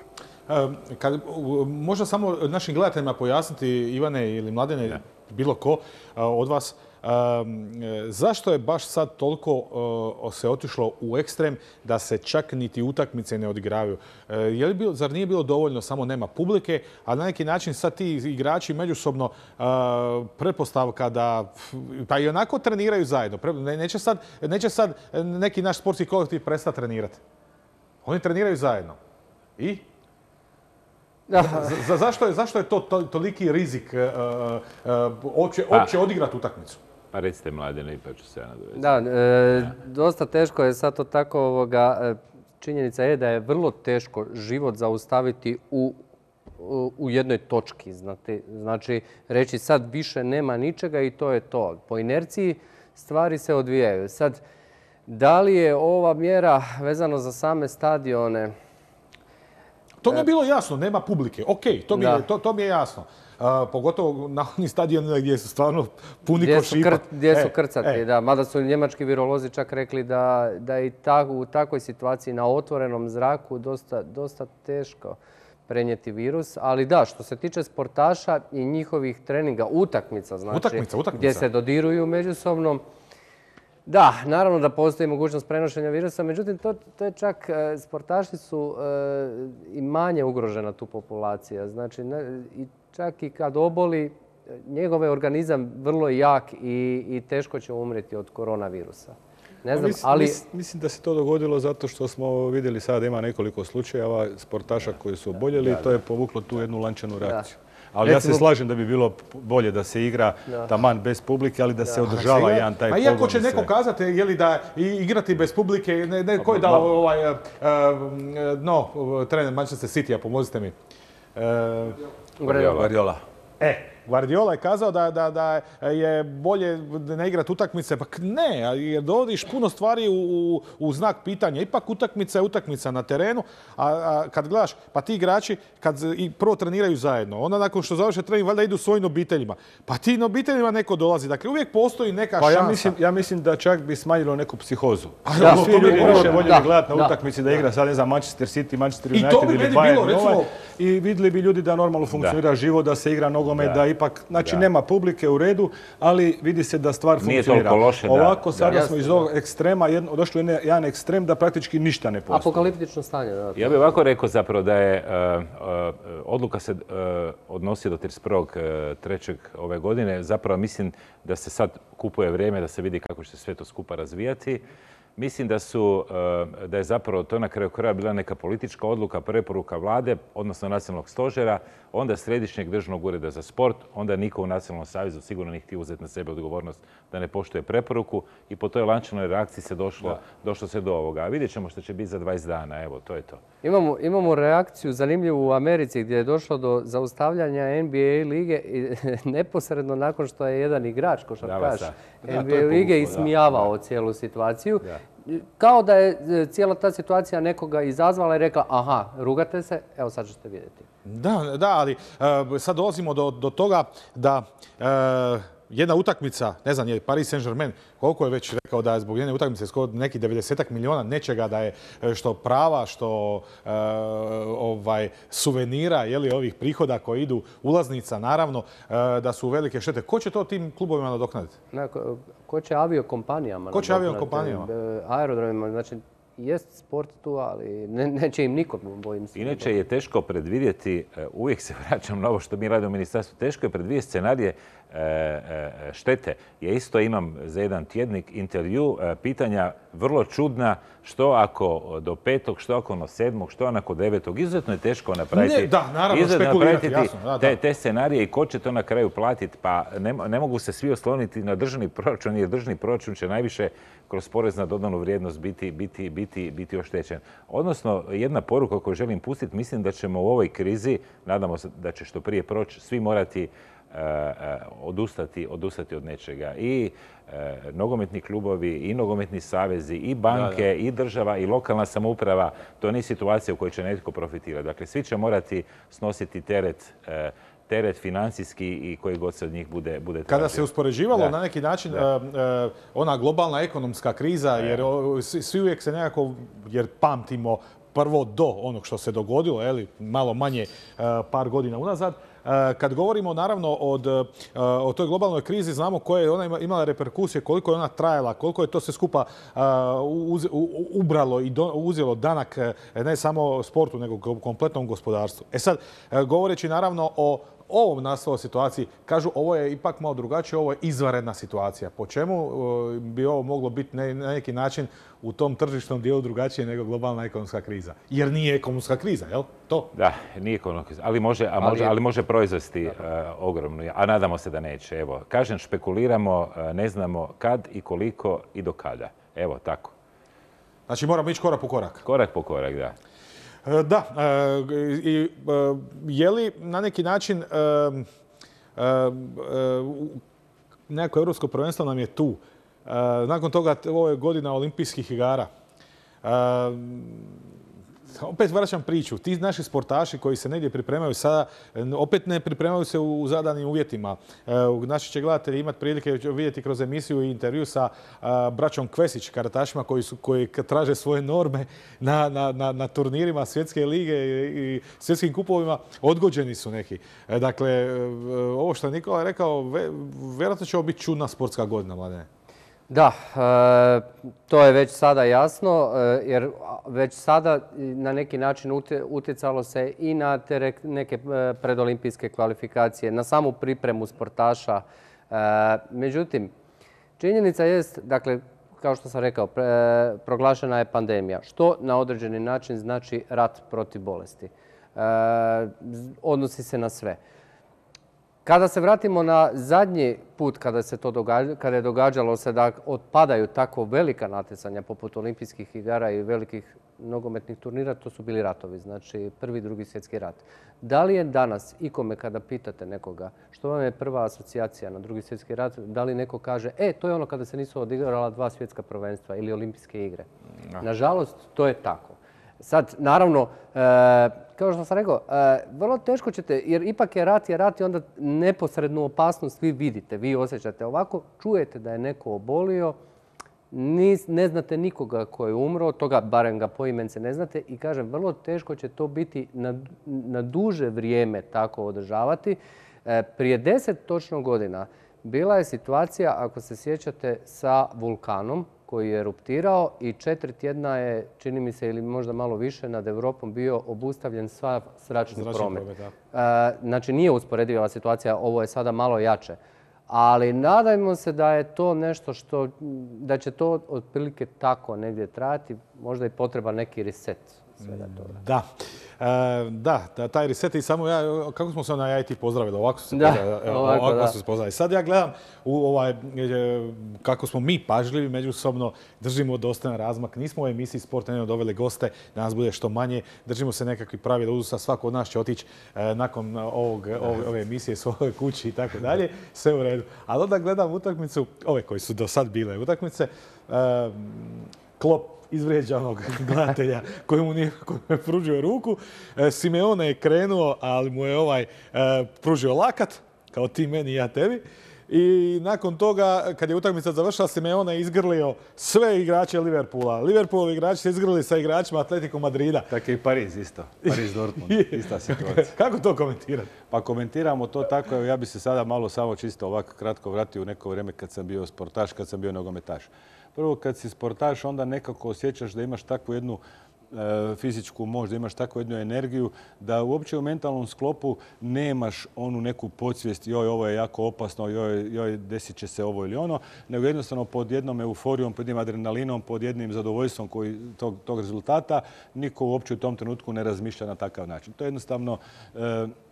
Možda samo našim gledateljima pojasniti, Ivane ili Mladene, bilo ko od vas, zašto je baš sad toliko se otišlo u ekstrem da se čak niti utakmice ne odigravaju? Zar nije bilo dovoljno samo nema publike, a na neki način sad ti igrači međusobno pretpostavka da pa i onako treniraju zajedno. Neće sad neki naš sportski kolektiv prestati trenirati. Oni treniraju zajedno. I? Zašto je to toliki rizik uopće odigrati utakmicu? Pa recite Mladene, pa ću se ja nadovezati. Da, dosta teško je sad to tako. Činjenica je da je vrlo teško život zaustaviti u jednoj točki. Znači, reći sad više nema ničega i to je to. Po inerciji stvari se odvijaju. Sad, da li je ova mjera vezano za same stadione? To mi je bilo jasno, nema publike. Ok, to mi je jasno. Pogotovo na onim stadionima gdje su stvarno puni košipa. Gdje su krcati, da. Mada su njemački virolozi čak rekli da je u takvoj situaciji na otvorenom zraku dosta teško prenijeti virus. Ali da, što se tiče sportaša i njihovih treninga, utakmica, znači, gdje se dodiruju međusobno, da, naravno da postoji mogućnost prenošenja virusa, međutim to je čak, sportaši su i manje ugrožena tu populacija. Znači, čak i kad oboli, njegov je organizam vrlo jak i teško će umrijeti od koronavirusa. Ne znam, ali... Mislim da se to dogodilo zato što smo vidjeli sada ima nekoliko slučajeva sportaša koji su oboljeli i to je povuklo tu jednu lančanu reakciju. Ali ja se slažem da bi bilo bolje da se igra taman bez publike, ali da se održava jedan taj pogon. A iako će neko kazati, je li da igrati bez publike, ko je dao trener Manchester City-a, pomozite mi. Guardiola. Guardiola je kazao da je bolje ne igrati utakmice. Pa ne, jer dovodiš puno stvari u znak pitanja. Ipak utakmica je utakmica na terenu, a kad gledaš, pa ti igrači kad prvo treniraju zajedno, onda nakon što završe trening, valjda idu svojim obiteljima. Pa ti na obiteljima neko dolazi. Dakle, uvijek postoji neka šansa. Ja mislim da čak bi smanjilo neku psihozu. Svi ljudi više voljeli gledati na utakmici da igra sad, ne znam, Manchester City, Manchester United ili Bayern. I vidjeli bi ljudi da normalno funkcionira život, da se igra nogomet, da ipak, znači nema publike u redu, ali vidi se da stvar funkcionira. Ovako sada smo iz ovog ekstrema došli u jedan ekstrem da praktički ništa ne postoji. Apokaliptično stanje. Ja bih ovako rekao zapravo da je odluka se odnosi do 31.3. ove godine. Zapravo mislim da se sad kupuje vrijeme da se vidi kako će se sve to skupa razvijati. Mislim da je zapravo to na kraju kraja bila neka politička odluka, preporuka vlade, odnosno nacionalnog stožera, onda Središnjeg državnog ureda za sport, onda niko u Nacionalnom savezu sigurno nije htio uzeti na sebe odgovornost da ne poštuje preporuku i po toj lančanoj reakciji se došlo se do ovoga. A vidjet ćemo što će biti za 20 dana, evo, to je to. Imamo reakciju zanimljivu u Americi gdje je došlo do zaustavljanja NBA lige neposredno nakon što je jedan igrač, košarkaš NBA lige, ismijavao cijelu situaciju. Kao da je cijela ta situacija nekoga izazvala i rekla aha, rugate se, evo sad ćete vidjeti. Da, ali sad dolazimo do toga da jedna utakmica, ne znam, je Paris Saint-Germain, koliko je već rekao da je zbog jedne utakmice skoro neki 90 milijuna nečega da je što prava, što suvenira, ovih prihoda koji idu, ulaznica naravno, da su velike štete. Ko će to tim klubovima nadoknaditi? Ko će aviokompanijama? Ko će aviokompanijama? Aerodromima, znači jest sport tu, ali neće im nikom, bojim se. Inače je teško predvidjeti, uvijek se vraćam na ovo što mi radimo u ministarstvu, teško je predvidjeti scenarije štete. Ja isto imam za jedan tjednik intervju pitanja vrlo čudna, što ako do 5., što ako do 7., što ako 9. Izuzetno je teško napraviti. Da, naravno, spekulirati, jasno. Te scenarije i ko će to na kraju platiti. Pa ne mogu se svi osloniti na državni proračun, jer državni proračun će najviše kroz porez na dodanu vrijednost biti oštećen. Odnosno, jedna poruka koju želim pustiti, mislim da ćemo u ovoj krizi, nadamo se da će što prije proći, svi morati odustati od nečega. I nogometni klubovi, i nogometni savezi, i banke, i država, i lokalna samouprava. To nije situacija u kojoj će netko profitirati. Dakle, svi će morati snositi teret financijski i koji god se od njih bude tražio. Kada se uspoređivalo na neki način ona globalna ekonomska kriza, jer svi uvijek se nekako, jer pamtimo prvo do onog što se dogodilo, malo manje par godina unazad. Kad govorimo naravno o toj globalnoj krizi, znamo koje je ona imala reperkusije, koliko je ona trajala, koliko je to sve skupa ubralo i uzelo danak ne samo sportu, nego kompletnom gospodarstvu. sad, govoreći naravno o ovom naslovu situaciji, kažu ovo je ipak malo drugačije, ovo je izvanredna situacija. Po čemu bi ovo moglo biti na neki način u tom tržišnom dijelu drugačije nego globalna ekonomska kriza? Jer nije ekonomska kriza, jel? To? Da, nije ekonomska kriza, ali može proizvesti ogromno, a nadamo se da neće. Evo, kažem, špekuliramo, ne znamo kad i koliko i do kada. Evo, tako. Znači moramo ići korak po korak. Korak po korak, da. Da, je li na neki način nekako europsko prvenstvo nam je tu. Nakon toga ovo je godina olimpijskih igara. Opet vraćam priču. Ti naši sportaši koji se negdje pripremaju sada, opet ne pripremaju se u zadanim uvjetima. Naši će gledatelji imati prilike vidjeti kroz emisiju i intervju sa braćom Kvesić, karatašima koji traže svoje norme na turnirima svjetske lige i svjetskim kupovima. Odgođeni su neki. Dakle, ovo što je Nikola rekao, vjerojatno će ovo biti čudna sportska godina, Mladene. Da, to je već sada jasno, jer već sada na neki način utjecalo se i na te neke predolimpijske kvalifikacije, na samu pripremu sportaša. Međutim, činjenica jest, dakle, kao što sam rekao, proglašena je pandemija, što na određeni način znači rat protiv bolesti. Odnosi se na sve. Kada se vratimo na zadnji put kada je događalo se da otpadaju tako velika natjecanja poput olimpijskih igara i velikih nogometnih turnira, to su bili ratovi, znači Prvi i Drugi svjetski rat. Da li je danas ikome kada pitate nekoga što vam je prva asocijacija na Drugi svjetski rat, da li neko kaže to je ono kada se nisu odigrala 2 svjetska prvenstva ili olimpijske igre? Nažalost, to je tako. Sad, naravno, kao što sam rekao, vrlo teško ćete, jer ipak je rat i onda neposrednu opasnost vi vidite, vi osjećate. Ovako čujete da je neko obolio, ne znate nikoga ko je umro, toga barem ga poimence ne znate i kažem, vrlo teško će to biti na duže vrijeme tako održavati. Prije 10 točno godina bila je situacija, ako se sjećate, sa vulkanom koji je eruptirao i 4 tjedna je, čini mi se, ili možda malo više, nad Europom bio obustavljen sav zračni promet. Znači, nije usporediva situacija, ovo je sada malo jače. Ali nadajmo se da je to nešto da će to otprilike tako negdje trajati, možda i potreba neki reset svega toga. Da, taj reset i samo kako smo se na IT pozdravili, ovako su se pozdravili. Sad ja gledam kako smo mi pažljivi međusobno, držimo dostojan razmak, nismo u emisiji Sport Nedjeljom doveli goste, da nas bude što manje, držimo se nekakvih pravila uzusa, svako od nas će otići nakon ove emisije svojoj kući i tako dalje, sve u redu. Ali onda gledam utakmicu, ove koji su do sad bile utakmice, Klopp izvrijeđanog gledatelja koji mu nije pružio ruku. Simeone je krenuo, ali mu je pružio lakat, kao ti meni i ja tebi. I nakon toga, kad je utakmica završila, Simeone je izgrlio sve igrače Liverpoola. Liverpoolovi igrači se izgrlili sa igračima Atletico Madrida. Tako i Pariz isto. Pariz Dortmund, ista situacija. Kako to komentirati? Pa komentiramo to tako, ja bi se sada malo samo čisto ovako kratko vratio u neko vrijeme kad sam bio sportaš, kad sam bio nogometaš. Prvo, kad si sportaš, onda nekako osjećaš da imaš takvu jednu fizičku moć, da imaš takvu jednu energiju, da uopće u mentalnom sklopu nemaš onu neku podsvijest, joj, ovo je jako opasno, joj, desit će se ovo ili ono, nego jednostavno pod jednom euforijom, pod jednim adrenalinom, pod jednim zadovoljstvom tog rezultata, niko uopće u tom trenutku ne razmišlja na takav način. To je jednostavno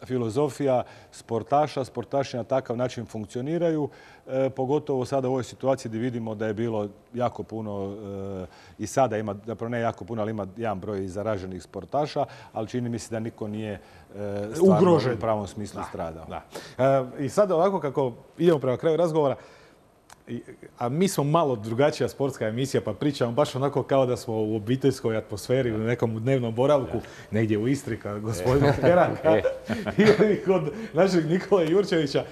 filozofija sportaša. Sportaši na takav način funkcioniraju, pogotovo sada u ovoj situaciji gdje vidimo da je bilo jako puno i sada ima, zapravo ne jako puno, ali ima jedan broj zaraženih sportaša, ali čini mi se da niko nije stvarno u pravom smislu stradao. I sada ovako kako idemo prema kraju razgovora, a mi smo malo drugačija sportska emisija, pa pričamo baš onako kao da smo u obiteljskoj atmosferi, u nekom dnevnom boravku, negdje u Istri, kao gospodina Heranka ili kod našeg Nikole Jurčevića.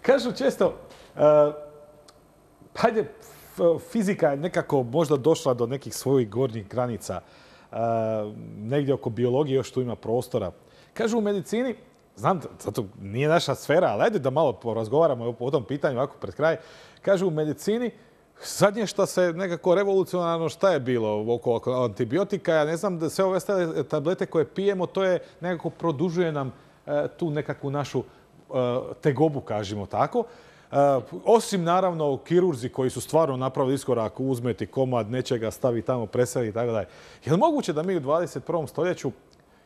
Kažu često, hajde, fizika je nekako možda došla do nekih svojih gornjih granica. Negdje oko biologije još tu ima prostora. Kažu u medicini, znam, zato nije naša sfera, ali ajde da malo porazgovaramo o tom pitanju ovako pred kraj. Kažu u medicini, zadnje što se nekako revolucionarno, šta je bilo oko antibiotika, ja ne znam, da sve ove tablete koje pijemo, to je nekako produžuje nam tu nekakvu našu tegobu, kažemo tako. Osim naravno kirurzi koji su stvarno napravili iskorak, uzmeti komad nečega, stavi tamo, preseli i tako dalje. Je li moguće da mi u 21. stoljeću,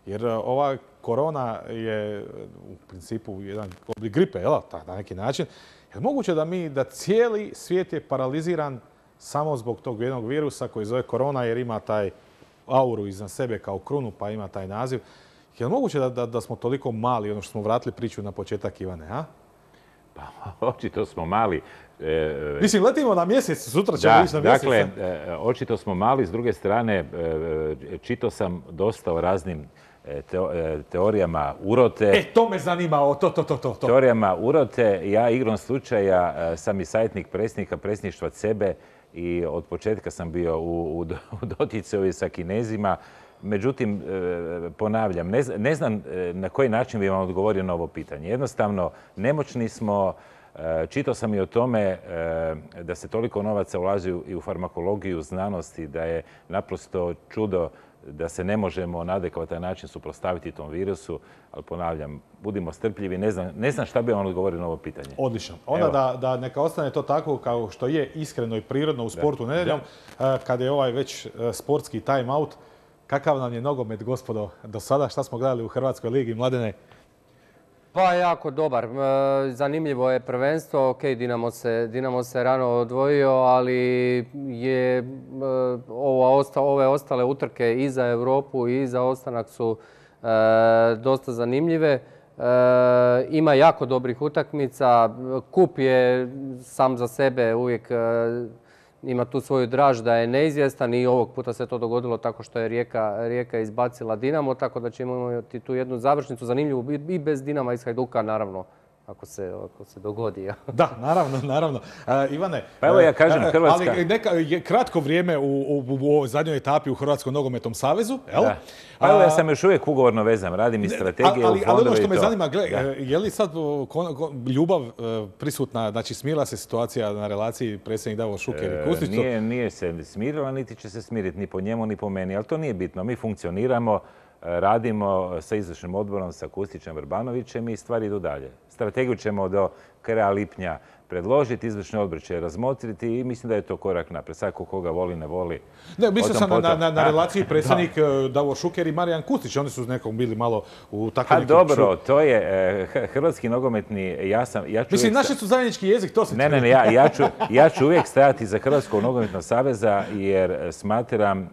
jer ova korona je u principu jedan oblik gripe, na neki način, je li moguće da cijeli svijet je paraliziran samo zbog tog jednog virusa koji zove korona jer ima taj auru iznad sebe kao krunu pa ima taj naziv. Je li moguće da smo toliko mali, ono što smo vratili priču na početak, Ivane, a? Pa, očito smo mali. Mislim, letimo na mjesec, sutra ćemo ići na mjesec. Dakle, očito smo mali. S druge strane, čitao sam dosta o raznim teorijama urote. To me zanima, to. Teorijama urote. Ja igrom slučaja sam i savjetnik predsjedništva CEBE i od početka sam bio u doticaju sa Kinezima. Međutim, ponavljam, ne znam na koji način bi vam odgovorio na ovo pitanje. Jednostavno, nemoćni smo. Čitao sam i o tome da se toliko novaca ulazi i u farmakologiju, znanosti, da je naprosto čudo da se ne možemo na adekvatan način suprotstaviti tom virusu. Ali ponavljam, budimo strpljivi. Ne znam šta bi vam odgovorio na ovo pitanje. Odlično. Onda da neka ostane to tako kao što je iskreno i prirodno u sportu nedjeljom, kada je ovaj već sportski time out. Kakav nam je nogomet, gospodo, do sada? Šta smo gledali u Hrvatskoj ligi, Mladene? Pa jako dobar. Zanimljivo je prvenstvo. Ok, Dinamo se rano odvojio, ali je ove ostale utrke i za Europu i za ostanak su dosta zanimljive. Ima jako dobrih utakmica. Kup je sam za sebe uvijek ima tu svoju draž da je neizvjestan i ovog puta se to dogodilo tako što je Rijeka izbacila Dinamo, tako da ćemo imati tu jednu završnicu zanimljivu i bez Dinama iz Hajduka, naravno, ako se dogodi. Da, naravno. Ivane, pa evo ja kažem Hrvatska. Ali kratko vrijeme u zadnjoj etapi u Hrvatskom nogometnom savezu, jel? Pa evo ja sam još uvijek ugovorno vezan, radim i strategije u fondove i to. Ali ono što me zanima, je li sad ljubav prisutna, znači smirila se situacija na relaciji predsjednik Davor Šuker i Kustić? Nije se smirila, niti će se smiriti ni po njemu, ni po meni, ali to nije bitno. Mi funkcioniramo, radimo sa izvršnim odborom, sa Kustićem, Vrbanovićem i stvari idu dalje. Strategiju ćemo do kraja lipnja predložiti, izvršni odbor će razmotriti i mislim da je to korak naprijed. Sad koga voli, ne voli. Ne, mislio sam na relaciji predsjednik Davor Šuker i Marijan Kustić. Oni su nekom bili malo u takvom nekim... Dobro, to je hrvatski nogometni... Mislim, naši su zajednički jezik, to se... Ne, ja ću uvijek stajati za Hrvatskog nogometnog saveza jer smatram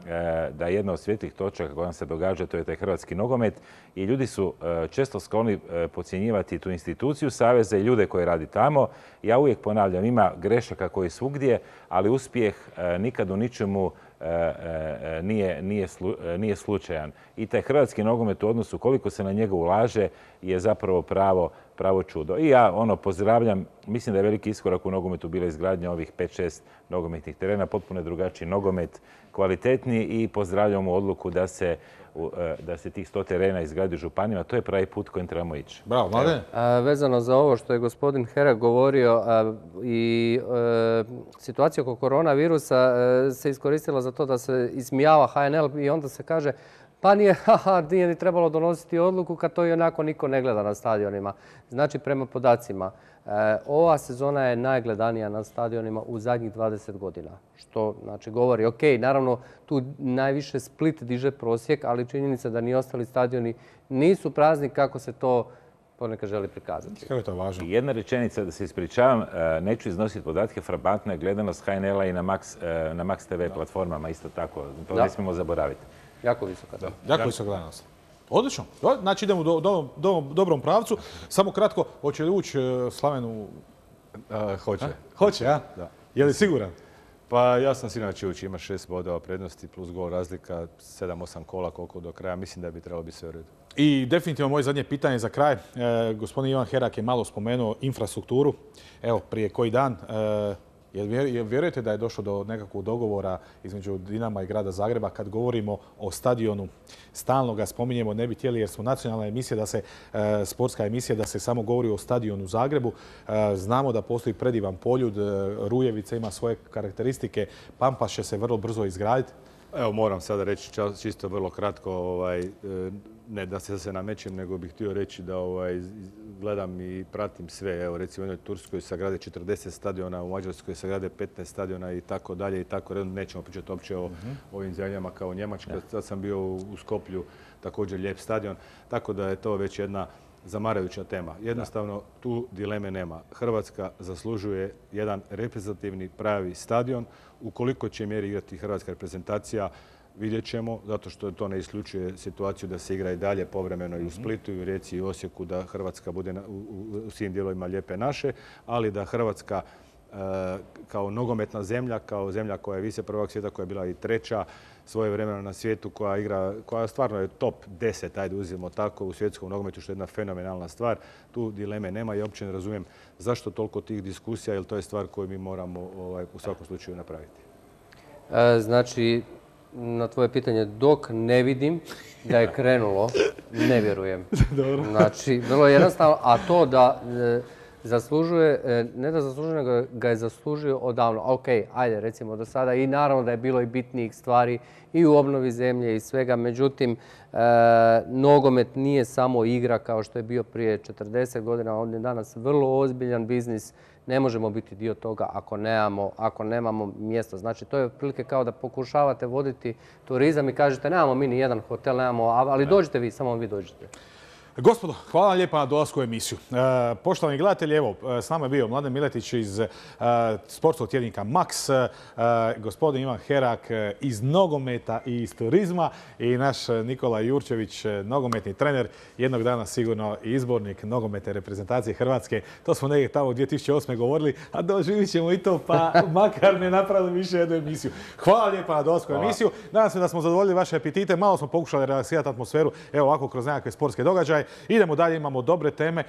da jedna od svjetlih točaka koja nam se događa, to je taj hrvatski nogomet i ljudi su često skloni podcjenjivati tu instituciju saveza i ljude koji radi tamo. Ja uvijek ponavljam, ima grešaka koji svugdje, ali uspjeh nikad u ničemu nije slučajan. I taj hrvatski nogomet u odnosu koliko se na njega ulaže je zapravo pravo čudo. I ja pozdravljam, mislim da je veliki iskorak u nogometu bila izgradnja ovih 5-6 nogometnih terena, potpuno drugačiji nogomet, kvalitetniji i pozdravljam odluku da se da se tih 100 terena izgradi u županijama. To je pravi put kojim trebamo ići. Bravo, Mladen. Vezano za ovo što je gospodin Herak govorio i situacija oko koronavirusa se iskoristila za to da se ismijava HNL i onda se kaže pa nije ni trebalo donositi odluku kad to i onako niko ne gleda na stadionima. Znači, prema podacima, ova sezona je najgledanija na stadionima u zadnjih 20 godina. Što znači govori, ok, naravno tu najviše Split diže prosjek, ali činjenica da ni ostali stadioni nisu prazni kako se to ponekad želi prikazati. Kako je to važno? Jedna rečenica, da se ispričavam, neću iznositi podatke, frapantna je gledanost HNL-a i na Max TV platformama isto tako. To ne smijemo zaboraviti. Jako visoka. Jako visoka gledanost. Odlično. Znači idemo u dobrom pravcu. Samo kratko, hoće li ući Slaven u... Hoće. Hoće, a? Da. Je li siguran? Pa ja sam siguran da će ući. Ima 6 bodova prednosti plus gol razlika, 7-8 kola koliko do kraja. Mislim da bi trebalo biti sve u redu. I definitivno moje zadnje pitanje za kraj. Gospodin Ivan Herak je malo spomenuo infrastrukturu. Evo, prije koji dan. Vjerujete da je došlo do nekakvog dogovora između Dinama i grada Zagreba kad govorimo o stadionu? Stalno ga spominjemo, ne bi htjeli jer smo nacionalna emisija, sportska emisija, da se samo govori o stadionu u Zagrebu. Znamo da postoji predivan Poljud, Rujevica ima svoje karakteristike, Pampas će se vrlo brzo izgraditi. Evo, moram sada reći čisto vrlo kratko, ne da se namećem, nego bih htio reći da gledam i pratim sve. Evo, recimo u jednoj Turskoj se grade 40 stadiona, u Mađarskoj se grade 15 stadiona i tako dalje i tako redom. Nećemo pričati uopće o ovim zemljama kao Njemačka. Sad sam bio u Skoplju, također lijep stadion, tako da je to već jedna zamarajuća tema. Jednostavno, tu dileme nema. Hrvatska zaslužuje jedan reprezentativni pravi stadion. U koliko će mjeri igrati hrvatska reprezentacija, vidjet ćemo, zato što to ne isključuje situaciju da se igra i dalje povremeno i u Splitu, i u Rijeci, i u Osijeku, da Hrvatska bude u svim dijelovima lijepe naše, ali da Hrvatska kao nogometna zemlja, kao zemlja koja je vice prvog svijeta, koja je bila i treća svojevremeno na svijetu, koja stvarno je top 10, ajde uzmemo tako, u svjetskom nogometu, što je jedna fenomenalna stvar. Tu dileme nema i uopće ne razumijem zašto toliko tih diskusija, jer to je stvar koju mi moramo u svakom slučaju napraviti. Znači, na tvoje pitanje, dok ne vidim da je krenulo, ne vjerujem. Znači, vrlo jednostavno, a to da zaslužuje, ne da zaslužuje, nego ga je zaslužio odavno. Ok, ajde, recimo do sada i naravno da je bilo i bitnijih stvari i u obnovi zemlje i svega. Međutim, nogomet nije samo igra kao što je bio prije 40 godina. On je danas vrlo ozbiljan biznis. Ne možemo biti dio toga ako nemamo mjesto. Znači, to je otprilike kao da pokušavate voditi turizam i kažete nemamo mi ni jedan hotel, ali dođite vi, samo vi dođite. Gospodo, hvala vam lijepa na dolasku u emisiju. Poštovani gledatelji, evo, s nama je bio Mladen Miletić iz sportskog tjednika Max, gospodin Ivan Herak iz nogometa i iz turizma i naš Nikola Jurčević, nogometni trener, jednog dana sigurno i izbornik nogometne reprezentacije Hrvatske. To smo negdje tamo 2008. govorili, a doživit ćemo i to, pa makar ne napravili više jednu emisiju. Hvala lijepa na dolasku u emisiju. Nadam se da smo zadovoljili vaše apetite, malo smo pokušali relaksirati atmosferu, evo ovako kroz nekakve sportske događaje. Idemo dalje, imamo dobre teme.